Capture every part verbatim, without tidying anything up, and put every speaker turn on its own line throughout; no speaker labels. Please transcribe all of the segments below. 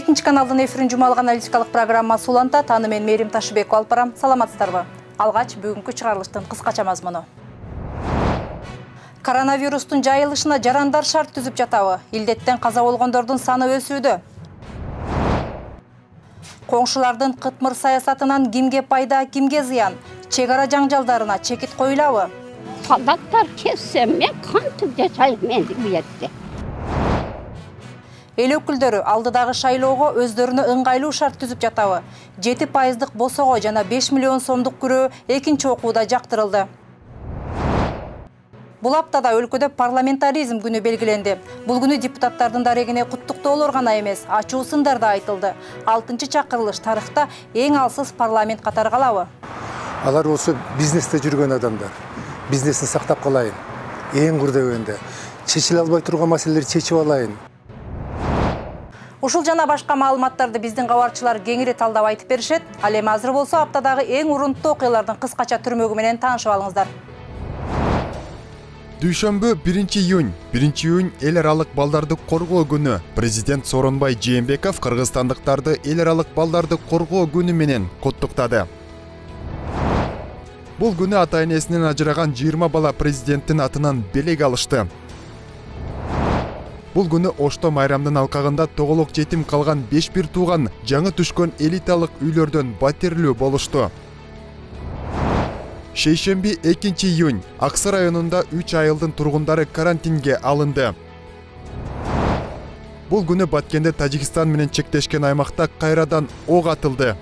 жетинчи каналдын эфирин жумалык аналитикалык программасы уланта. Таны мен Мерим Ташыбекова алып барам. Саламатсыздарбы? Алгач бүгүнкү чыгарылыштын кыскача мазмуну. Коронавирустун жайылышына жарандар шарт түзүп жатабы? Илдеттен каза болгондордун саны өсүүдө. Коңшулардын кытмыр саясатынан кимге пайда, кимге зыян? Чек ара жаңжалдарына чекит коюлабы?
Солдаттар кессе, мен кантип жашайм мен бу жерде?
Эл өкүлдөрү алдыдагы шайлоого өздөрүнө ыңгайлуу шарт түзүп жатабы? жети пайыздык босого жана беш миллион сомдук күрөө экинчи окууда жактырылды. Бул аптада өлкөдө парламентаризм күнү белгиленди. Бул күнү депутаттардын дарегине куттуктоолор гана эмес, ачуу сындар да айтылды. алтынчы чакырылыш тарыхта эң алсыз парламент катары калабы?
Алар болсо бизнесте жүргөн адамдар. Бизнесин сактап калайын. Эң курдөгөндө чечиле албай турган маселелерди чечип алайын.
Ушул жана башка маалыматтарды биздин кабарчылар кеңири талдап айтып беришет. Ал эми азыр болсо аптадагы эң урунттуу окуялардын кыскача түрмөгү менен таанышып алыңыздар.
Дүйшөмбү биринчи июнь. биринчи июнь эл аралык балдарды коргоо күнү. Президент Сооронбай Жээнбеков кыргызстандыктарды эл аралык балдарды коргоо күнү менен куттуктады. Бул күнү ата-энесинен ажыраган жыйырма бала президенттин атынан белек алышты. Бул күнү Ошто майрамдын алкагында тоголок жетим калган беш бир тууган жаңы түшкөн элиталык үйлөрдөн батирлүү болушту. Шейшемби экинчи июнь. Аксы районунда үч айылдын тургундары карантинге алынды. Бул күнү Баткенде Тажикстан менен чектешкен аймакта кайрадан ок атылды.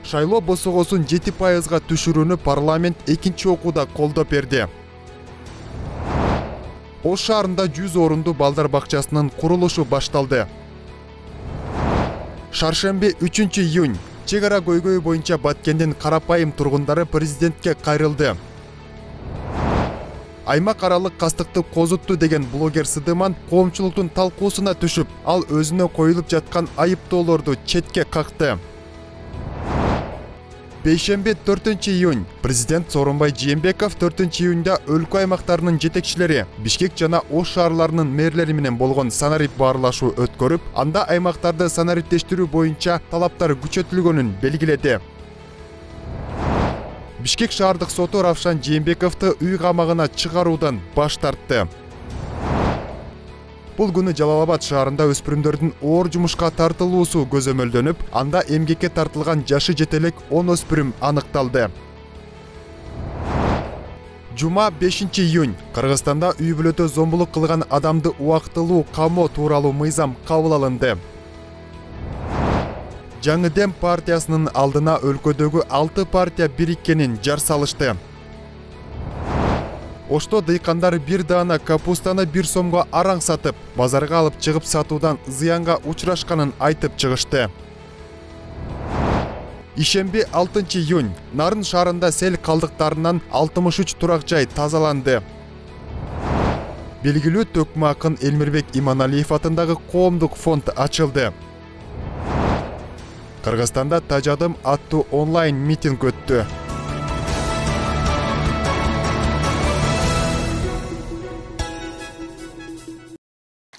Шайлоо босогосун жети пайызга түшүрүүнү парламент экинчи окууда колдоп берди. Ош шаарында жүз орунду балдар бакчасынын курулушу башталды. Шаршемби үчүнчү июнь. Чек ара көйгөйү боюнча Баткендин карапайым тургундары президентке кайрылды. Аймак аралык кастыкты козутту деген блогер Сыдыман коомчулуктун талкуусуна түшүп, ал өзүнө коюлуп жаткан айыптоолорду четке какты. Бейшемби төртүнчү июнь. Президент Сооронбай Жээнбеков төртүнчү июньда өлкө аймактарынын жетекчилери, Бишкек жана Ош шаарларынын мэрлери менен болгон санарип баарлашуу өткөрүп, анда аймактарды санариптештирүү боюнча талаптар күчөтүлгөнүн белгиледи. Бишкек шаардык соту Равшан Жээнбековду үй камагына чыгаруудан баш тартты. Бул күнү Жалал-Абад шаарында өспүрүмдөрдүн оор жумушка тартылуусу көзөмөлдөнүп, анда эмгекке тартылган жашы жетелек он өспүрүм аныкталды. Жума бешинчи июнь. Кыргызстанда үй бүлөдө зомбулук кылган адамды убактылуу камоо тууралуу мыйзам кабыл алынды. Жаңы Дем партиясынын алдына өлкөдөгү алты партия бириккенин жар салышты. Ошто дыйкандар бир даана капустаны бир сомго араң сатып, базарга алып чыгып сатуудан зыянга учурашканын айтып чыгышты. Ишемби алтынчы июнь. Нарын шаарында сел калдыктарынан алтымыш үч турак жай тазаланды. Белгилүү төкмө акын Элмирбек Иманалиев атындагы коомдук фонд ачылды. Кыргызстанда Тажадым аттуу онлайн митинг өттү.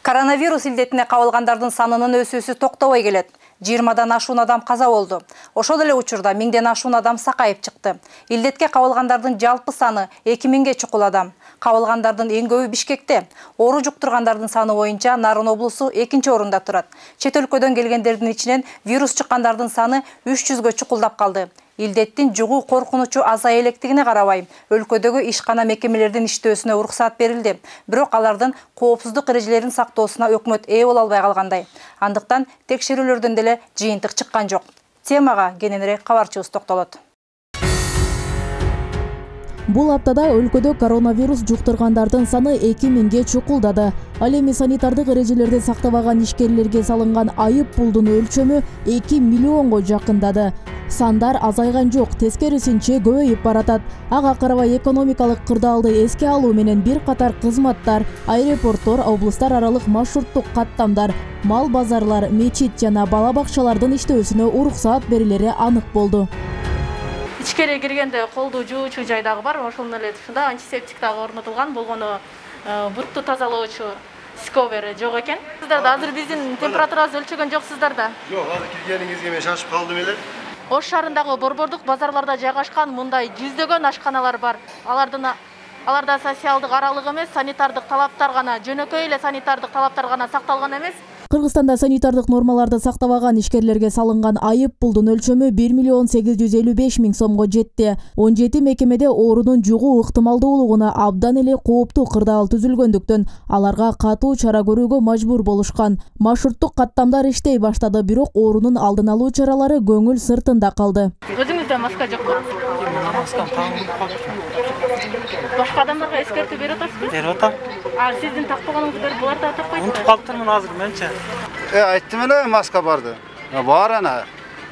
Коронавирус илдетине кабылгандардын санынын өсүүсү токтобой келет. жыйырмадан ашуун адам каза болду. Ошол эле учурда миңден ашуун адам сакайып чыкты. Илдетке кабылгандардын жалпы саны эки миңге чукул адам. Кабылгандардын эң көбү Бишкекте. Оору жуктургандардын саны боюнча Нарын облусу экинчи орунда турат. Чет өлкөдөн келгендердин ичинен вирус чыккандардын саны үч жүзгө чукулдап калды. Илдеттин жугуу коркунучу азая электигине карабай, өлкөдөгү ишкана мекемелердин иштөөсүнө уруксаат берилди. Бирок алардын коопсуздук эрежелерин сактоосуна өкмөт ээ боло албай калгандай. Андыктан текшерүүлөрдөн деле жыйынтык чыккан жок. Темага кененирээк кабарчыбыз токтолот.
Бул аптада өлкөдө коронавирус жуктургандардын саны эки миңге чукулдады. Ал эми санитардык эрежелерди сактабаган ишкерлерге салынган айып пулдун өлчөмү эки миллионго жакындады. Сандар азайган жок, тескерисинче көбөйүп баратат. Ага карабай экономикалык кырдаалды эске алуу менен бир катар кызматтар, аэропорттор, облустар аралык маршруттук каттамдар, мал базарлар, мечит жана бала бакчалардын иштөөсүнө уруксаат берилери анык болду.
Ичкери киргенде колду жуучу жайдагы бар, ошол эле ушунда антисептик дагы орнотулган, болгону бутту тазалоочу Discovery жок экен. Сиздерде азыр биздин температурабызды өлчөгөн жоксуздар да?
Жок, азыр киргениңизге мен шашып калдым эле.
Ош шаарындагы борбордук базарларда жайгашкан мындай жүздөгөн ашканалар бар. Алардын аларда социалдык аралык эмес, санитардык талаптар гана, жөнөкөй эле санитардык талаптар гана сакталган эмес.
Кыргызстанда санитардык нормаларды сактабаган ишкерлерге салынган айып пулдун өлчөмү бир миллион сегиз жүз элүү беш миң сомго жетти. он жети мекемеде оорунун жугуу ыктымалдуулугуна абдан эле кооптуу кырдаал түзүлгөндүктөн аларга катуу чара көрүүгө мажбур болушкан. Маршруттук каттамдар иштей баштады, бирок оорунун алдын алуу чаралары көңүл сыртында калды.
Өзүңүздө маска жокпу?
Маскам тагып калды.
Башка адамдарга эскертүү берип атасызбы?
Берип атам.
А сиздин такпаганыңызды берип булар да такпайт.
Унутуп калыптырмын азыр менче.
Э, айттым эле маска барды. Бар ана.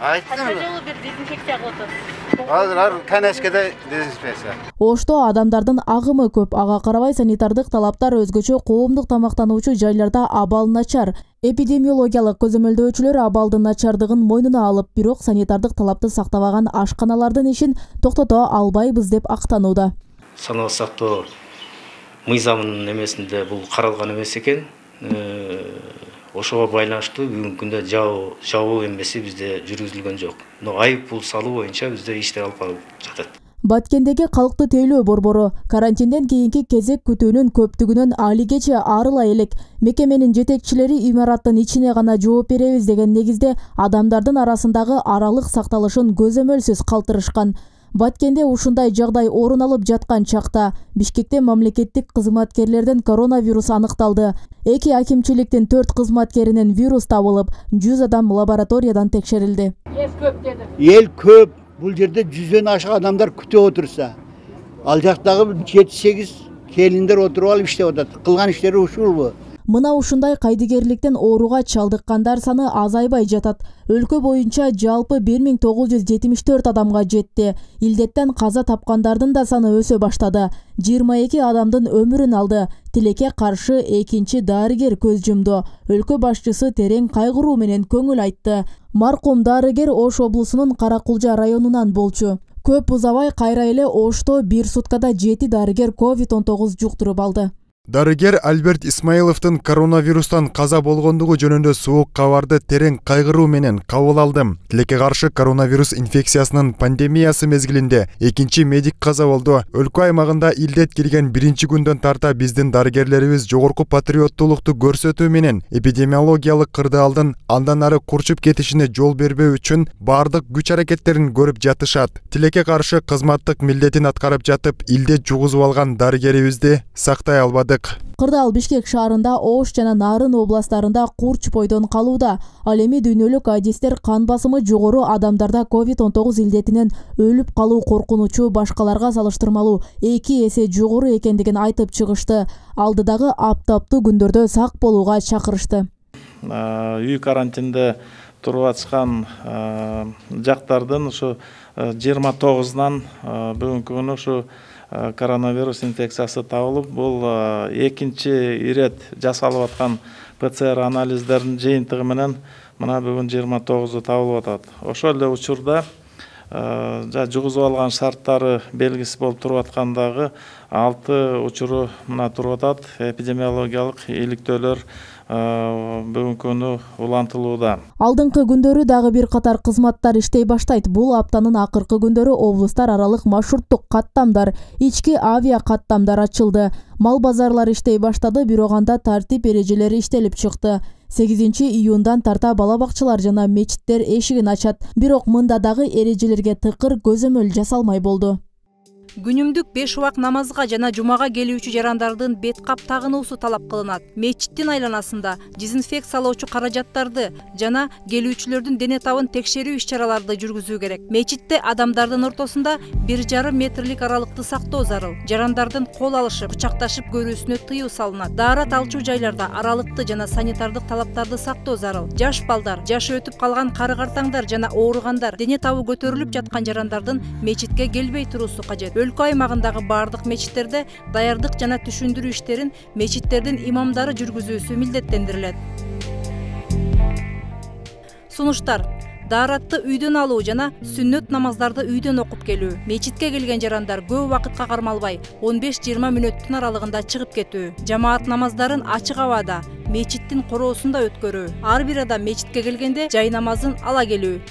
Айттым
Кача
эле.
жолу бир дезинфекция кылып атасыз?
Азыр ар канешкеде дезинфекция.
Ошто адамдардын агымы көп, ага карабай санитардык талаптар өзгөчө коомдук тамактануучу жайларда абал начар. Эпидемиологиялык көзөмөлдөөчүлөр абалдын начардыгын мойнуна алып, бирок санитардык талапты сактабаган ашканалардын ишин токтото албайбыз деп актанууда.
Санаа сактоо мыйзамынын эмесинде бул каралган эмес экен. Ошого байланыштуу бүгүнкү күндө жабуу жабуу эмеси бизде жүргүзүлгөн жок. Но айып пул салуу боюнча бизде иштер алып барылып жатат.
Баткендеги калкты тейлөө борбору карантинден кийинки кезек күтүүнүн көптүгүнөн алигече арыла элек. Мекеменин жетекчилери имараттын ичине гана жооп беребиз деген негизде адамдардын арасындагы аралык сакталышын көзөмөлсүз калтырышкан. Баткенде ушундай жагдай орун алып жаткан чакта Бишкекте мамлекеттик кызматкерлерден коронавирус аныкталды. Эки акимчиликтин төрт кызматкеринен вирус табылып, жүз адам лабораториядан текшерилди.
Эл көп деди.
Эл көп. Бул жерде жүздөн ашык адамдар күтүп отурса, ал жактагы жети сегиз келиндер отуруп алып иштеп атат. Кылган иштери ушулбу?
Мына ушундай кайдыгерликтен ооруга чалдыккандар саны азайбай жатат. Өлкө боюнча жалпы бир миң тогуз жүз жетимиш төрт адамга жетти. Илдеттен каза тапкандардын да саны өсө баштады. жыйырма эки адамдын өмүрүн алды. Тилекке каршы экинчи дарыгер көз жумду. Өлкө башчысы терең кайгыруу менен көңүл айтты. Маркум дарыгер Ош облусунун Каракулжа районунан болчу. Көп узабай кайра эле Ошто бир суткада жети дарыгер ковид он тогуз жуктуруп алды.
Дарыгер Альберт Исмаиловдун коронавирустан каза болгондугу жөнүндө суук кабарды терең кайгыруу менен кабыл алдым. Тилекке каршы коронавирус инфекциясынын пандемиясы мезгилинде экинчи медик каза болду. Өлкө аймагында илдет кирген биринчи күндөн тарта биздин дарыгерлерибиз жогорку патриоттуулукту көрсөтүү менен эпидемиологиялык кырдаалдын андан ары курчуп кетишине жол бербөө үчүн бардык күч аракеттерин көрүп жатышат. Тилекке каршы кызматтык милдетин аткарып жатып, илдет жугузуп алган дарыгерибизди сактай албады.
Кырдаал Бишкек шаарында, Ош жана Нарын областарында курч бойдон калууда. Ал эми дүйнөлүк адистер кан басымы жогору адамдарда ковид он тогуз илдетинен өлүп калуу коркунучу башкаларга салыштырмалуу эки эсе жогору экендигин айтып чыгышты. Алдыдагы аптаптуу күндөрдө сак болууга чакырышты.
Үй карантинде туруп атышкан жактардын ушу жыйырма тогузунан бүгүнкү күнү ушу коронавирус инфекциясы табылып, бул экинчи ирет жасалып аткан ПЦР анализдердин жыйынтыгы менен мына бүгүн жыйырма тогузу табылып атат. Ошол эле учурда жугузуп алган шарттары белгисиз болуп туруп аткандагы алты учуру мына туруп атат. Эпидемиологиялык иликтөөлөр бүгүнкү күнү улантылууда.
Алдыңкы күндөрү дагы бир катар кызматтар иштей баштайт. Бул аптанын акыркы күндөрү облустар аралык маршруттук каттамдар, ички авиа каттамдар ачылды. Мал базарлары иштей баштады, бирок анда тартип эрежелери иштелип чыкты. сегизинчи июндан тарта бала бакчалар жана мечиттер эшигин ачат. Бирок мында дагы эрежелерге тыкыр көзөмөл жасалмай болду.
Күнүмдүк беш убак намазга жана жумага келүүчү жарандардын бет кап тагынуусу талап кылынат. Мечиттин айланасында дезинфекциялоочу каражаттарды жана келүүчүлөрдүн дене табын текшерүү иш-чараларды жүргүзүү керек. Мечитте адамдардын ортосунда бир жарым метрлик аралыкты сактоо зарыл. Жарандардын кол алышып, кучакташып көрүүсүнө тыюу салынат. Даарат алчу жайларда аралыкты жана санитардык талаптарды сактоо зарыл. Жаш балдар, жашы өтүп калган кары-картаңдар жана ооругандар, дене табы көтөрүлүп жаткан жарандардын мечитке келбей туруусу кажет. Өлкө аймагындагы бардык мечиттерде даярдык жана түшүндүрүү иштерин мечиттердин имамдары жүргүзүүсү милдеттендирилет. Сунуштар. Daarатты үйдөн алуу жана сүннөт намаздарды үйдөн окуп келүү. Мечитке келген жарандар көп убакытка кармалбай он беш жыйырма мүнөттүн аралыгында чыгып кетүү. Жамаат намаздарын ачык абада, мечиттин короосунда өткөрүү. Ар бир адам мечитке келгенде жай намазын ала келүү.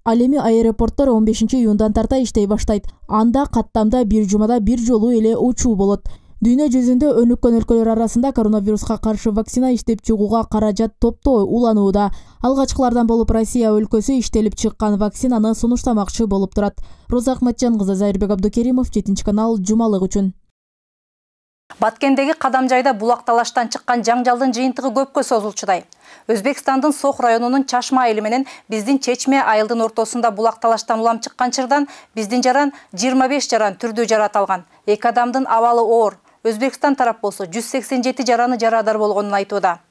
Ал эми аэропорттор он бешинчи июндан тарта иштей баштайт. Анда каттамда бир жумада бир жолу эле учуу болот. Дүйнө жүзүндө өнүккөн өлкөлөр арасында коронавируска каршы вакцина иштеп чыгууга каражат топтоо уланууда. Алгачкылардан болуп Россия өлкөсү иштелип чыккан вакцинаны сунуштамакчы болуп турат. Роза Ахматжан кызы, Зайырбек Абдукеримов, жетинчи канал, жумалык үчүн.
Баткендеги Кадамжайда булак талаштан чыккан жаңжалдын жыйынтыгы көпкө созулчудай. Өзбекстандын Сох районунун Чашма айылы менен биздин Чечме айылдын ортосунда булак талаштан улам чыккан чырдан биздин жаран жыйырма беш жаран түрдүү жарат алган. Эки адамдын абалы оор. Өзбекстан тарап болсо жүз сексен жети жараны жарадар болгонун айтууда.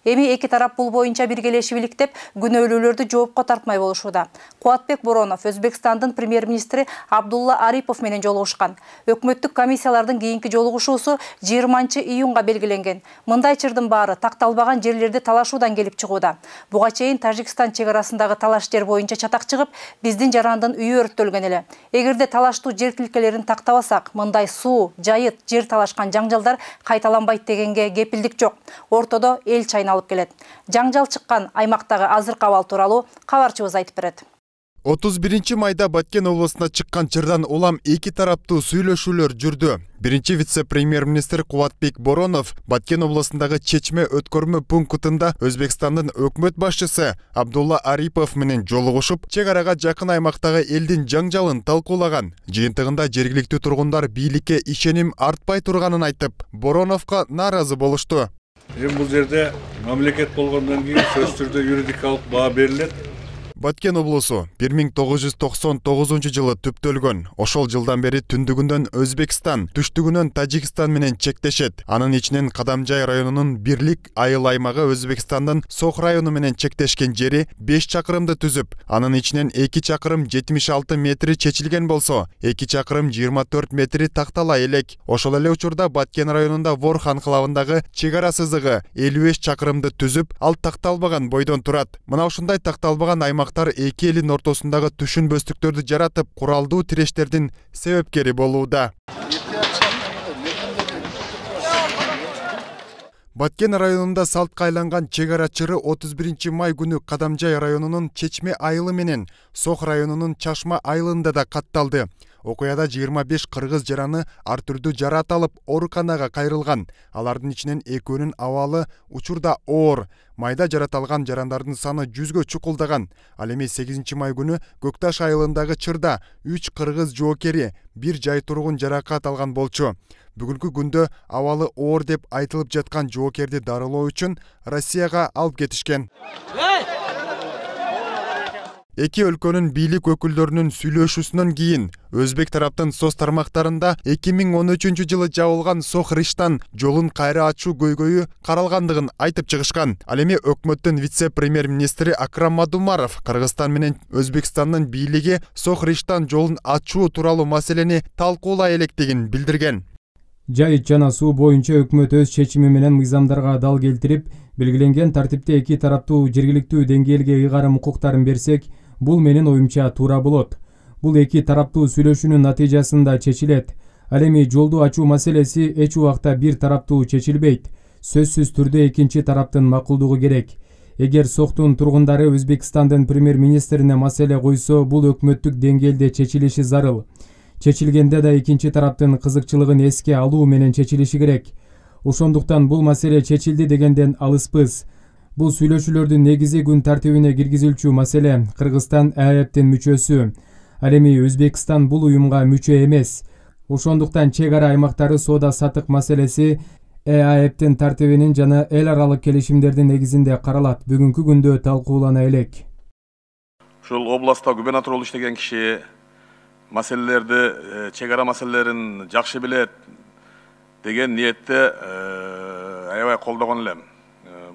Эми эки тарап бул боюнча биргелешип иликтеп, күнөөлүүлөрдү жоопко тартмай болушууда. Кубатбек Боронов Өзбекстандын премьер-министри Абдулла Арипов менен жолугушкан. Өкмөттүк комиссиялардын кийинки жолугушуусу жыйырманчы июнга белгиленген. Мындай чырдын баары такталбаган жерлерди талашуудан келип чыгууда. Буга чейин Тажикстан чек арасындагы талаш жер боюнча чатак чыгып, биздин жарандын үйү өрттөлгөн эле. Эгерде талаштуу жер тилкелерин тактабасак, мындай суу, жайыт, жер талашкан жаңжалдар кайталанбайт дегенге кепилдик жок. Ортодо эл чайна алып келет. Жаңжал чыккан аймактагы азыркы абал тууралуу кабарчыбыз айтып берет.
отуз биринчи майда Баткен облусуна чыккан чырдан улам эки тараптуу сүйлөшүүлөр жүрдү. Биринчи вице-премьер-министр Кубатбек Боронов Баткен облусундагы Чечме өткөрмө пунктунда Өзбекстандын өкмөт башчысы Абдулла Арипов менен жолугушуп, чек арага жакын аймактагы элдин жаңжалын талкуулаган. Жыйынтыгында жергиликтүү тургундар бийликке ишеним артпай турганын айтып, Бороновго нааразы болушту.
Эми бул жерде мамлекет болгондон кийин сөзсүз түрдө юридикалык баа берилет.
Баткен облусу бир миң тогуз жүз токсон тогузунчу жылы түптөлгөн. Ошол жылдан бери түндүгүнөн Өзбекстан, түштүгүнөн Тажикстан менен чектешет. Анын ичинен Кадамжай районунун Бирлик айыл аймагы Өзбекстандын Сох району менен чектешкен жери беш чакырымды түзүп, анын ичинен эки чакырым жетимиш алты метри чечилген болсо, эки чакырым жыйырма төрт метри тактала элек. Ошол эле учурда Баткен районунда Ворх анклавындагы чек ара сызыгы элүү беш чакырымды түзүп, ал такталбаган бойдон турат. Мына ушундай такталбаган аймак эки элдин ортосундагы түшүнбөстүктөрдү жаратып, куралдуу тирештердин себепкери болууда. Баткен районунда салтка айланган чек ара чыры отуз биринчи май күнү Кадамжай районунун Чечме айылы менен Сох районунун Чашма айылында да катталды. Окуяда жыйырма беш кыргыз жараны ар түрдүү жарат алып, ооруканага кайрылган. Алардын ичинен экөөнүн абалы учурда оор. Майда жарат алган жарандардын саны жүзгө чукулдаган. Ал эми сегизинчи май күнү Көкташ айылындагы чырда үч кыргыз жоокери, бир жай тургун жаракат алган болчу. Бүгүнкү күндө абалы оор деп айтылып жаткан жоокерди дарылоо үчүн Россияга алып кетишкен. Эки өлкөнүн бийлик өкүлдөрүнүн сүйлөшүүсүнөн кийин Өзбек тараптын соц тармактарында эки миң он үчүнчү жылы жабылган Сох-Риштан жолун кайра ачуу көйгөйү каралгандыгын айтып чыгышкан. Ал эми өкмөттүн вице-премьер-министри Акрам Мадумаров Кыргызстан менен Өзбекстандын бийлиги Сох-Риштан жолун ачуу тууралуу маселени талкуулай электигин билдирген.
Жайыт жана суу боюнча өкмөт өз чечими менен мыйзамдарга дал келтирип, белгиленген тартипте эки тараптуу жергиликтүү деңгээлге ыйгарым укуктарын берсек, бул менин оюмча туура болот. Бул эки тараптуу сүйлөшүүнүн натыйжасында чечилет. Ал эми жолду ачуу маселеси эч убакта бир тараптуу чечилбейт. Сөзсүз түрдө экинчи тараптын макулдугу керек. Эгер Сохтун тургундары Өзбекстандын премьер-министрине маселе койсо, бул өкмөттүк деңгээлде чечилиши зарыл. Чечилгенде да экинчи тараптын кызыкчылыгын эске алуу менен чечилиши керек. Ошондуктан бул маселе чечилди дегенден алыспыз. Бул сүйлөшүүлөрдүн негизи күн тартибине киргизилчү маселе. Кыргызстан Э А Эптин мүчөсү. Ал эми Өзбекстан бул уюмга мүчө эмес. Ошондуктан чек ара аймактары соода сатык маселеси Э А Эптин тартибинин жана эл аралык келишимдердин негизинде каралат. Бүгүнкү күндө талкуулана элек.
Ушул областта губернатор болуп иштеген киши маселелерди, чек ара маселелерин жакшы билет деген ниетте аябай колдогон элем.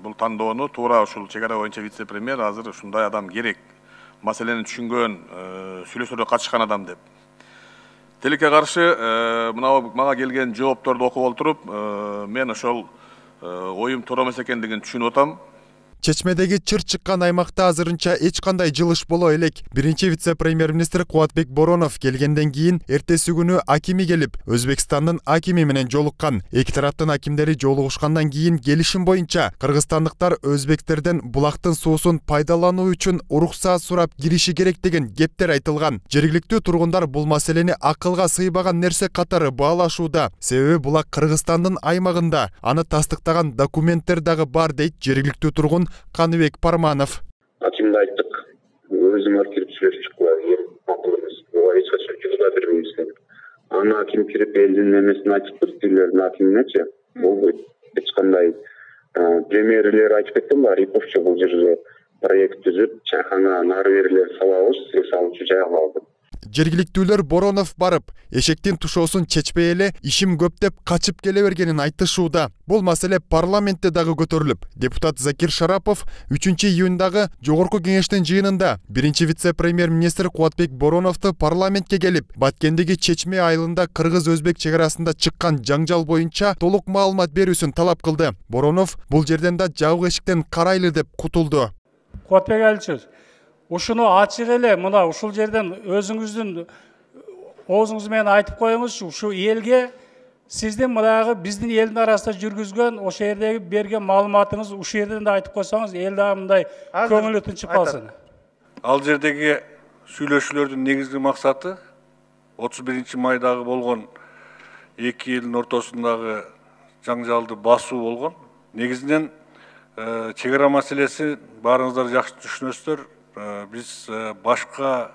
Бул тандоону туура ушул чек ара боюнча вице-премьер азыр ушундай адам керек. Маселени түшүнгөн, сүйлөшүүлөргө катышкан адам деп. Тилекке каршы мына мага келген жоопторду окуп отуруп, мен ошол оюм туура эмес экендигин түшүнүп атам.
Чечмедеги чыр чыккан аймакта азырынча эч кандай жылыш боло элек. Биринчи вице-премьер-министр Кубатбек Боронов келгенден кийин эртеси күнү акими келип, Өзбекстандын акими менен жолуккан. Эки тараптын акимдери жолугушкандан кийин келишим боюнча кыргызстандыктар өзбектерден булактын суусун пайдалануу үчүн уруксаат сурап кириши керек деген кептер айтылган. Жергиликтүү тургундар бул маселени акылга сыйбаган нерсе катары баалашууда. Себеби булак Кыргызстандын аймагында, аны тастыктаган документтер дагы бар дейт жергиликтүү тургун Каныбек Парманов.
Акимде айттык, өзүм кирип сүйлөшүп чыккыла, эң макул эмес. Буга эч качан жузда бербейбиз деп. Аны аким кирип элдин немесин айтып туруп, тилердин акиминечи, болбойт. Эч кандай премьерлер айтып кеткен бар, Риповчу бул жерде проект түзүп, чайхана нары берилер салабыз, сиз салуучу жайга алды.
Жергиликтүүлөр Боронов барып, эшектин тушоосун чечпей эле ишим көп деп качып келе бергенин айтышууда. Бул маселе парламентте дагы көтөрүлүп, депутат Закир Шарапов үчүнчү июндагы жогорку кеңештин жыйынында биринчи вице-премьер-министр Кубатбек Бороновду парламентке келип, Баткендеги Чечме айылында кыргыз-өзбек чек арасында чыккан жаңжал боюнча толук маалымат берүүсүн талап кылды. Боронов бул жерден да жабык эшиктен карайлы деп кутулду.
Кубатбек Аличевич, ушуну ачык эле мына ушул жерден өзүңүздүн оозуңуз менен айтып коюңузчу, ушу элге сиздин мынагы биздин элдин арасында жүргүзгөн ошол жердеги берген маалыматыңыз ушул жерден да айтып койсоңуз, эл дагы мындай көңүлү тынчып калсын.
Ал жердеги сүйлөшүүлөрдүн негизги максаты отуз биринчи майдагы болгон эки элдин ортосундагы жаңжалды басуу болгон. Негизинен чек ара маселеси баарыңыздар жакшы түшүнөсүздөр. Биз башка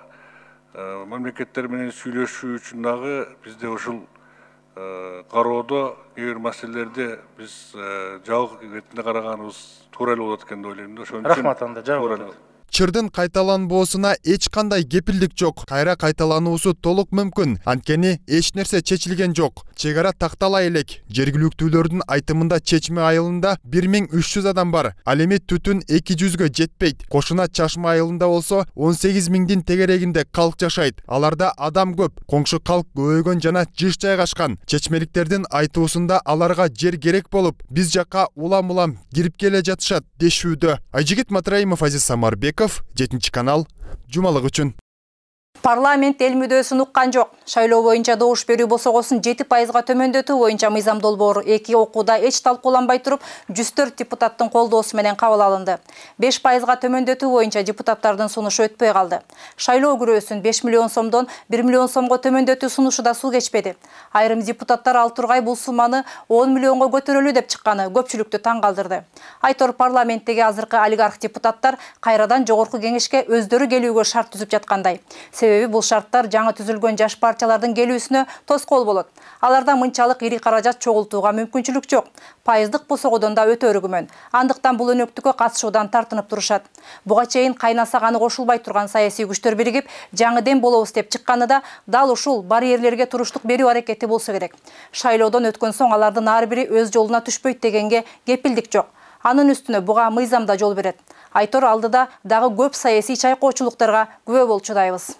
мамлекеттер менен сүйлөшүү үчүн дагы бизде ушул кароодо кээ бир маселелерди биз жабык иретинде караганыбыз туура эле болот экен деп ойлойм да. Ошон үчүн
рахмат анда жабык.
Чырдын кайталанбоосуна эч кандай кепилдик жок. Кайра кайталануусу толук мүмкүн. Анткени эч нерсе чечилген жок. Чек ара тактала элек. Жергиликтүүлөрдүн айтымында Чечме айылында бир миң үч жүз адам бар. Ал эми түтүн эки жүзгө жетпейт. Кошуна Чашма айылында болсо он сегиз миңдин тегерегинде калк жашайт. Аларда адам көп. Коңшу калк көбөйгөн жана жыш жайгашкан. Чечмеликтердин айтуусунда аларга жер керек болуп, биз жакка улам-улам кирип келе жатышат дешүүдө. Айжигит Матраимов, Азиз Самарбеков, жетинчи канал, жумалык үчүн.
Парламент эл мүдөөсүн уккан жок. Шайлоо боюнча добуш берүү босогосун жети пайызга төмөндөтүү боюнча мыйзам долбоору эки окууда эч талкууланбай туруп жүз төрт депутаттын колдоосу менен кабыл алынды. беш пайызга төмөндөтүү боюнча депутаттардын сунушу өтпөй калды. Шайлоо күрөөсүн беш миллион сомдон бир миллион сомго төмөндөтүү сунушу да суу кечпеди. Айрым депутаттар ал тургай бул сумманы он миллионго көтөрөлүү деп чыкканы көпчүлүктү таң калтырды. Айтор парламенттеги азыркы олигарх депутаттар кайрадан жогорку кеңешке өздөрү келүүгө шарт түзүп жаткандай. Себеби бул шарттар жаңы түзүлгөн жаш партиялардын келүүсүнө тоскоол болот. Аларда мынчалык ири каражат чогултууга мүмкүнчүлүк жок. Пайыздык босогодон да өтө өргүмөн. Андыктан бул өнөктүккө катышуудан тартынып турушат. Буга чейин кайнаса-каны кошулбай турган саясий күчтөр биригип, жаңы дем болобуз деп чыкканында дал ушул барьерлерге туруштук берүү аракети болсо керек. Шайлоодон өткөн соң алардын ар бири өз жолуна түшпөйт дегенге кепилдик жок. Анын үстүнө буга мыйзамда жол берет. Айтор алдыда дагы көп саясий чайкоочулуктарга күбө болчудайбыз.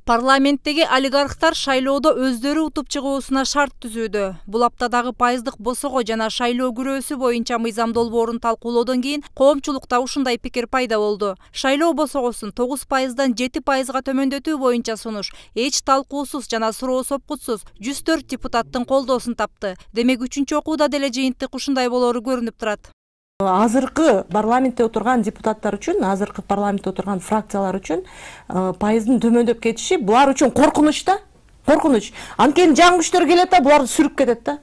Парламенттеги олигархтар шайлоодо өздөрү утуп чыгуусуна шарт түзүүдө. Бул аптадагы пайыздык босого жана шайлоо күрөөсү боюнча мыйзам долбоорун талкуулоодон кийин коомчулукта ушундай пикир пайда болду. Шайлоо босогосун тогуз пайыздан жети пайызга төмөндөтүү боюнча сунуш эч талкуусуз жана суроо сопкутсуз жүз төрт депутаттын колдоосун тапты. Демек үчүнчү окууда деле жыйынтык ушундай болору көрүнүп турат.
Азыркы парламентте отурган депутаттар үчүн, азыркы парламентте отурган фракциялар үчүн пайыздын төмөндөп кетиши булар үчүн коркунуч да. Коркунуч. Анткени жаңы күчтөр келет да, буларды сүрүп кетет да.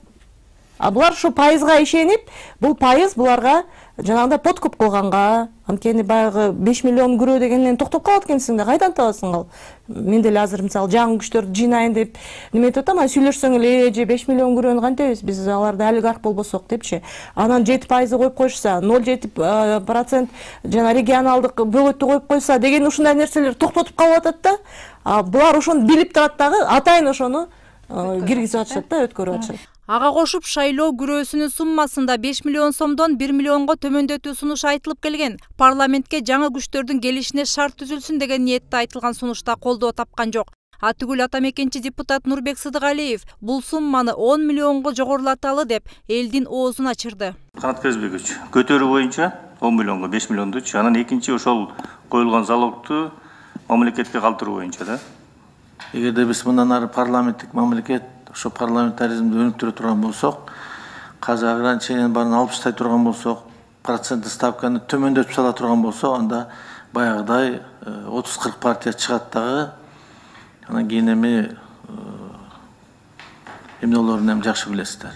А булар ушу пайызга ишенип, бул пайыз буларга жанагындай подкуп кылганга, анткени баягы беш миллион күрөө дегеннен токтоп калат экенсиң да, кайдан табасың ал? Мен деле азыр мисалы жаңы күчтөрдү жыйнайын деп неметип атам, а сүйлөшсөң эле же беш миллион күрөөнү кантебиз биз аларды олигарх болбосок депчи. Анан жети пайызды коюп койшса, ноль жети процент жана регионалдык бөгөттү коюп койса деген ушундай нерселер токтотуп калып атат да. А булар ошону билип турат дагы, атайын ошону киргизип атышат да, өткөрүп атышат.
Ага кошуп шайлоо күрөөсүнүн суммасында беш миллион сомдон бир миллионго төмөндөтүү сунушу айтылып келген. Парламентке жаңы күчтөрдүн келишине шарт түзүлсүн деген ниетте айтылган сунушта колдоо тапкан жок. Атүгүл атамекенчи депутат Нурбек Сыдыгалиев бул сумманы он миллионго жогорулаталы деп элдин оозун ачырды.
Канат Кезбекович, көтөрүү боюнча он миллионго беш миллиондучу. Анан экинчи ошол коюлган залогду мамлекетке калтыруу боюнча да.
Эгерде биз мындан ары парламенттик мамлекет, ошо парламентаризмди өнүктүрө турган болсок, казыр ограничениянын баарын алып таштай турган болсок, проценттик ставканы төмөндөтүп сала турган болсок, анда баягыдай отуз кырк партия чыгат дагы. Анан кийин эми эмнелерин эми жакшы билесиздер.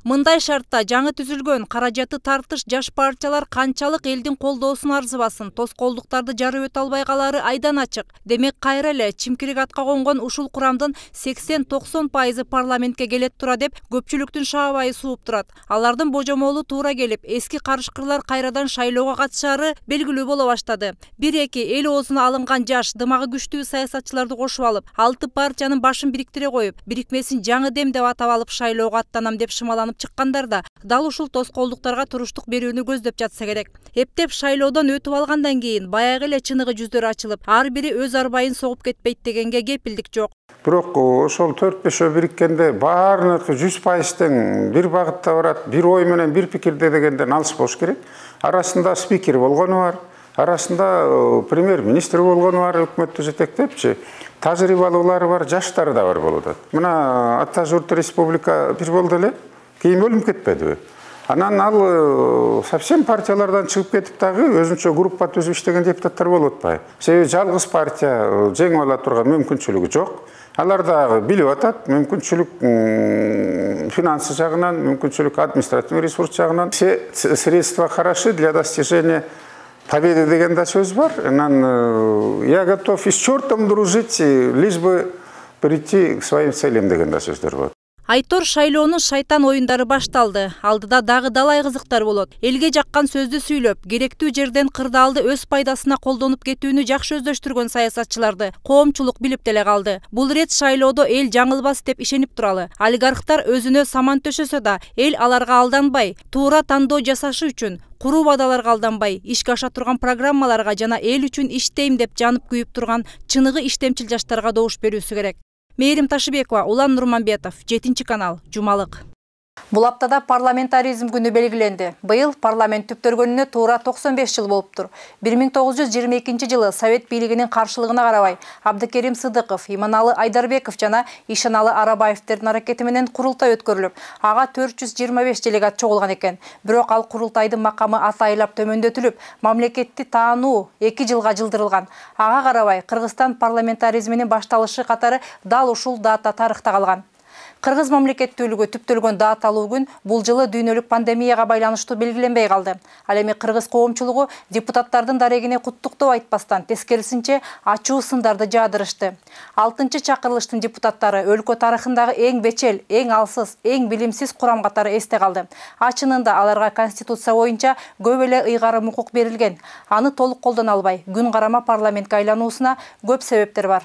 Мындай шартта жаңы түзүлгөн каражаты тартыш жаш партиялар канчалык элдин колдоосун арзыбасын, тоскоолдуктарды жарып өтө албай калары айдан ачык. Демек кайра эле чимкирик атка конгон ушул курамдын сексен токсон пайызы парламентке келет тура деп көпчүлүктүн шаабайы сууп турат. Алардын божомолу туура келип, эски карышкырлар кайрадан шайлоого катышары белгилүү боло баштады. бир эки эл оозуна алынган жаш, дымагы күчтүү саясатчыларды кошуп алып, алты партиянын башын бириктире коюп, бирикмесин жаңы дем деп атап алып шайлоого аттанам деп шымаланып чыккандар да дал ушул тоскоолдуктарга туруштук берүүнү көздөп жатса керек. Эптеп шайлоодон өтүп алгандан кийин баягы эле чыныгы жүздөр ачылып, ар бири өз арбайын согуп кетпейт дегенге кепилдик жок.
Бирок ошол төрт бешөө бириккенде баарыныкы жүз пайыз тең бир багытта барат, бир ой менен бир пикирде дегенден алыс болуш керек. Арасында спикер болгону бар, арасында премьер-министр болгону бар, өкмөттү жетектепчи. Тажрыйбалуулары бар, жаштары да бар болуп атат. Мына Ата журт республика бир болду эле. Кейін өлім кетпеді. Анан ал совсем партиялардан чыгып кетип дагы өзүнчө группа түзүп иштеген депутаттар болуп атпайбы? Себеби жалгыз партия жеңип ала турган мүмкүнчүлүгү жок. Алар дагы билип атат, мүмкүнчүлүк финансы жагынан, мүмкүнчүлүк административный ресурс жагынан. Все средства хороши для достижения победы деген да сөз бар. Анан я готов и с чертом дружить, лишь бы прийти к своим целям деген да сөздөр бар.
Айтор шайлоонун шайтан оюндары башталды. Алдыда дагы далай кызыктар болот. Элге жаккан сөздү сүйлөп, керектүү жерден кырдаалды өз пайдасына колдонуп кетүүнү жакшы өздөштүргөн саясатчыларды коомчулук билип деле калды. Бул рет шайлоодо эл жаңылбас деп ишенип туралы. Олигархтар өзүнө саман төшөсө да, эл аларга алданбай, туура тандоо жасашы үчүн куруу бадаларга алданбай, ишке аша турган программаларга жана эл үчүн иштейм деп жанып күйүп турган чыныгы иштемчил жаштарга добуш берүүсү керек. Мээрим Ташыбекова, Улан Нурманбетов, жетинчи канал, Жумалык. Бул аптада парламентаризм күнү белгиленди. Быйыл парламент түптөргөнүнө туура токсон беш жыл болуптур. бир миң тогуз жүз жыйырма экинчи жылы Совет бийлигинин каршылыгына карабай, Абдыкерим Сыдыков, Иманалы Айдарбеков жана Ишаналы Арабаевтердин аракети менен курултай өткөрүлүп, ага төрт жүз жыйырма беш делегат чогулган экен. Бирок ал курултайдын макамы атайылап төмөндөтүлүп, мамлекетти таануу эки жылга жылдырылган. Ага карабай, Кыргызстан парламентаризминин башталышы катары дал ушул дата тарыхта калган. Кыргыз мамлекеттүүлүгү түптөлгөн даталуу күн бул жылы дүйнөлүк пандемияга байланыштуу белгиленбей калды. Ал эми кыргыз коомчулугу депутаттардын дарегине куттуктоо айтпастан тескерисинче ачуу сындарды жаадырышты. алтынчы чакырылыштын депутаттары өлкө тарыхындагы эң бечел, эң алсыз, эң билимсиз курам катары эсте калды. Ачынында аларга конституция боюнча көп эле ыйгарым укук берилген. Аны толук колдоно албай, күн карама парламентке айлануусуна көп себептер бар.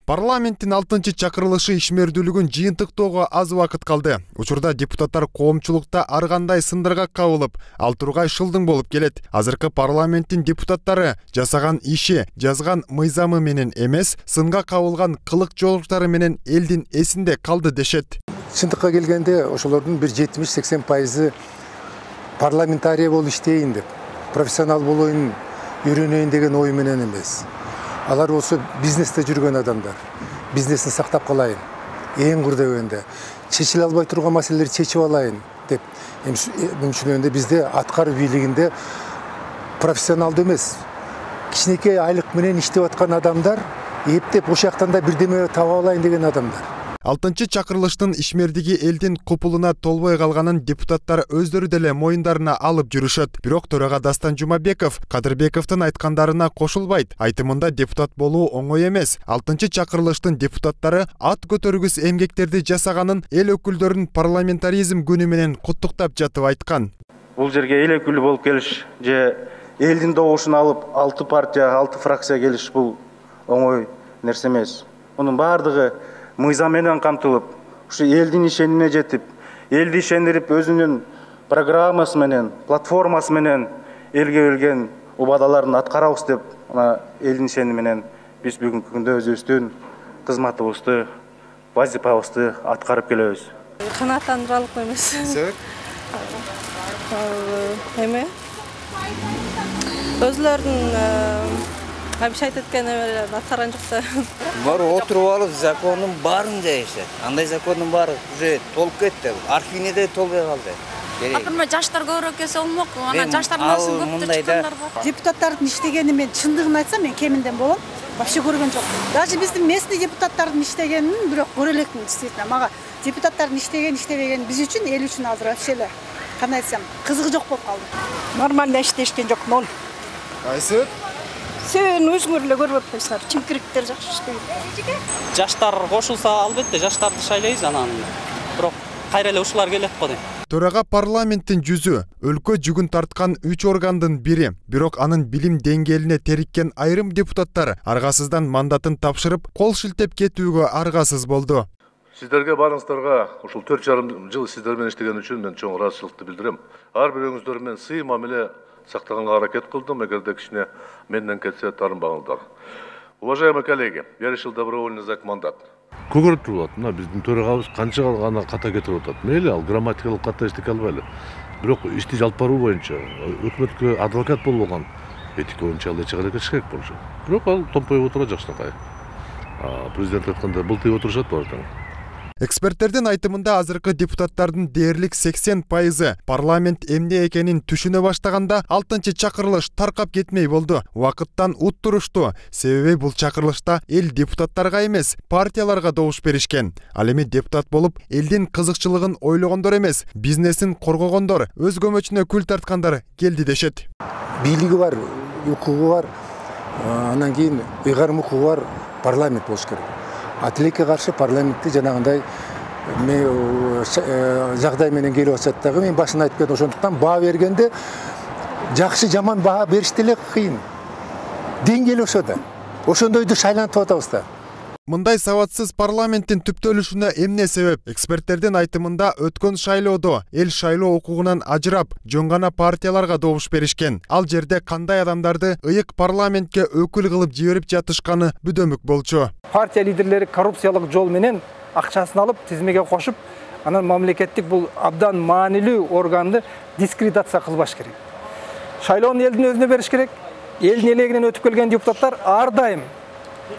Парламенттин алтынчы чакырылышы ишмердүүлүгүн жыйынтыктоого аз убакыт калды. Учурда депутаттар коомчулукта ар кандай сындырга кабылып, ал тургай шылдың болуп келет. Азыркы парламенттин депутаттары жасаган иши, жазган мыйзамы менен эмес, сынга кабылган кылык жоолуктары менен элдин эсинде калды дешет.
Чындыкка келгенде ошолордун бир жетимиш сексен пайызы парламентарий болуп иштейин деп, профессионал болоюн, үйрөнөйүн деген ой менен эмес. Алар болсо бизнесте жүргөн адамдар. Бизнесин сактап калайын. Эң курдөгөндө чечиле албай турган маселелерди чечип алайын деп мүмкүнчүлүгүндө бизде аткаруу бийлигинде профессионалдуу эмес, кичинекей айлык менен иштеп аткан адамдар эптеп ошол жактан да бирдеме таба алайын деген адамдар.
алтынчы чакырылыштын ишмердиги элдин купулуна толбой калганын депутаттар өздөрү деле моюндарына алып жүрүшөт. Бирок төрага Дастан Жумабеков Кадырбековдун айткандарына кошулбайт. Айтымында депутат болуу оңой эмес. алтынчы чакырылыштын депутаттары ат көтөргүс эмгектерди жасаганын эл өкүлдөрүн парламентаризм күнү менен куттуктап жатып айткан.
Бул жерге эл өкүлү болуп келиш же элдин добушун алып алты партия, алты фракция келиш бул оңой нерсе эмес. Мунун баардыгы мыйзам менен камтылып, ушу элдин ишенине жетип, элди ишендирип, өзүнүн программасы менен, платформасы менен элге берген убадаларын аткарабыз деп, ана элдин ишени менен биз бүгүнкү күндө өзүбүздүн кызматыбызды, вазифабызды аткарып келебиз.
Канааттандыралык эмес. Себеп? эме өзлөрүнүн обещать эткени менен аткарган жок да.
Бар отуруп алып закондун баарын жайышат. Андай закондун баары уже толуп кетти. Архивине да толбой калды.
Акырма жаштар көбүрөөк келсе болмок. Анан жаштардын арасынан көптөр чыккандар бар.
Депутаттардын иштегени мен чындыгын айтсам мен кеминден болом. Вообще көргөн жок. Даже биздин местный депутаттардын иштегенин бирок көрө элекмин действительно. Мага депутаттардын иштеген иштебеген биз үчүн, эл үчүн азыр вообще эле кандай айтсам, кызыгы жок болуп калды.
Нормально иштешкен жок, ноль.
Кайсы?
Сен өзүңөр эле көрүп атпайсыңар, чимкириктер жакшы иштейт.
Жаштар кошулса, албетте жаштарды шайлайбыз, анан бирок кайра эле ушулар келет го дейм.
Төрага парламенттин жүзү, өлкө жүгүн тарткан үч органдын бири, бирок анын билим деңгээлине териккен айрым депутаттар аргасыздан мандатын тапшырып, кол шилтеп кетүүгө аргасыз болду.
Сиздерге барыңыздарга ушул төрт жарым жыл сиздер менен иштеген үчүн мен чоң ыраазычылыкты билдирем. Ар бирөөңүздөр менен сый мамиле сактаганга аракет кылдым, эгерде кичине менден кетсе тарынбаңыздар. Уважаемые коллеги, я решил добровольно сдать мандат.
Көгөрүп турат, мына биздин төрагабыз канча гана ката кетирип атат. Мейли ал грамматикалык ката иштей албайлы. Бирок ишти жалп баруу боюнча өкмөткө адвокат болгон этика боюнча ал эч аракет керек болчу. Бирок ал томпоюп отурат жакшынакай. Президент айткандай былтый отурушат баардыгы.
Эксперттердин айтымында азыркы депутаттардын дээрлик сексен пайызы парламент эмне экенин түшүнө баштаганда алтынчы чакырылыш таркап кетмей болду. Убакыттан уттурушту. Себеби бул чакырылышта эл депутаттарга эмес, партияларга добуш беришкен. Ал эми депутат болуп, элдин кызыкчылыгын ойлогондор эмес, бизнесин коргогондор, өз көмөчүнө күл тарткандар келди дешет.
Бийлиги бар, укугу бар, анан кийин ыйгарым укугу бар парламент болуш керек. Атилекке каршы парламентти жанагындай жагдай менен келип атат дагы мен башында айтып кетем, ошондуктан баа бергенде жакшы жаман баа бериш деле кыйын. Деңгээл ошо да. Ошондойду шайлантып атабыз да.
Мындай сабатсыз парламенттин түптөлүшүнө эмне себеп? Эксперттердин айтымында өткөн шайлоодо эл шайлоо укугунан ажырап, жөн гана партияларга добуш беришкен. Ал жерде кандай адамдарды ыйык парламентке өкүл кылып жиберип жатышканы бүдөмүк болчу.
Партия лидерлери коррупциялык жол менен акчасын алып тизмеге кошуп, анан мамлекеттик бул абдан маанилүү органды дискредитация кылбаш керек. Шайлоону элдин өзүнө бериш керек. Элдин элегинен өтүп келген депутаттар ар дайым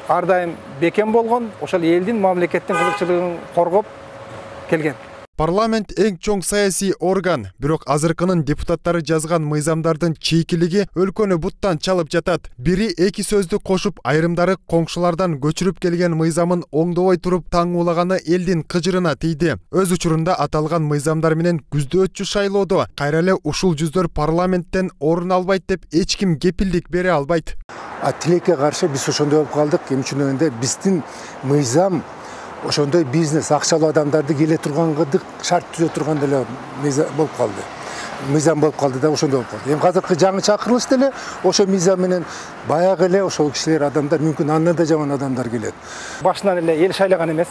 ар дайым бекем болгон, ошол элдин мамлекеттин кызыкчылыгын коргоп келген.
Парламент эң чоң саясий орган, бирок азыркынын депутаттары жазган мыйзамдардын чийкилиги өлкөнү буттан чалып жатат. Бири эки сөздү кошуп, айрымдары коңшулардан көчүрүп келген мыйзамын оңдобой туруп таңуулаганы элдин кыжырына тийди. Өз учурунда аталган мыйзамдар менен күздөөчү шайлоодо кайра эле ушул жүздөр парламенттен орун албайт деп эч ким кепилдик бере албайт.
Атилекке каршы биз ошондой болуп калдык. Эми чынында биздин мыйзам ошондой бизнес, акчалуу адамдарды келе тургандык шарт түзө турган деле болуп калды. Мыйзам болуп калды да ошондой болуп калды. Эми азыркы жаңы чакырылыш деле ошо мыйзам менен баягы эле ошол кишилер адамдар мүмкүн андан да жаман адамдар келет.
Башынан эле эл шайлаган эмес.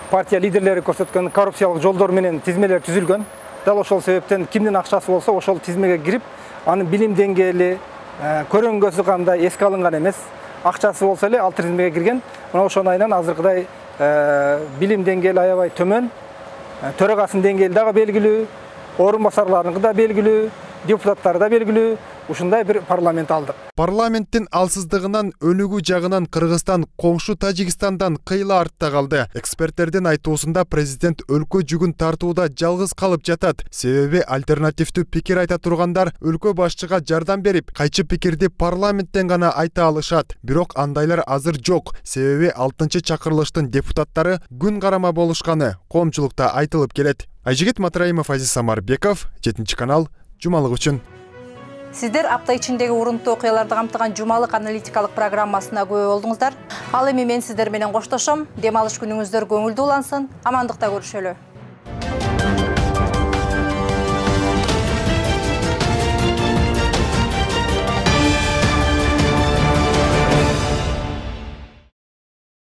Партия лидерлери көрсөткөн коррупциялык жолдор менен тизмелер түзүлгөн. Дал ошол себептен кимдин акчасы болсо ошол тизмеге кирип, анын билим деңгээли, көрөнгөсү кандай эске алынган эмес. Акчасы болсо эле ал тизмеге кирген. Мына ошонун айынан азыркыдай билим деңгээли аябай төмөн, төрагасынын деңгээли дагы белгилүү, орун басарларыныкы да белгилүү, депутаттары да белгилүү, ушундай бир парламент алдык.
Парламенттин алсыздыгынан өнүгүү жагынан Кыргызстан коңшу Тажикстандан кыйла артта калды. Эксперттердин айтуусунда президент өлкө жүгүн тартууда жалгыз калып жатат. Себеби альтернативдүү пикир айта тургандар өлкө башчыга жардам берип, кайчы пикирди парламенттен гана айта алышат. Бирок андайлар азыр жок. Себеби алтынчы чакырылыштын депутаттары күн карама болушканы коомчулукта айтылып келет. Айжигит Матраимов, Азиз Самарбеков, жетинчи канал, жумалык үчүн.
Сиздер апта ичиндеги урунтуу окуяларды камтыган жумалык аналитикалык программасына күбө болдуңуздар. Ал эми мен сиздер менен коштошом. Дем алыш күнүңүздөр көңүлдүү улансын. Амандыкта көрүшөлү.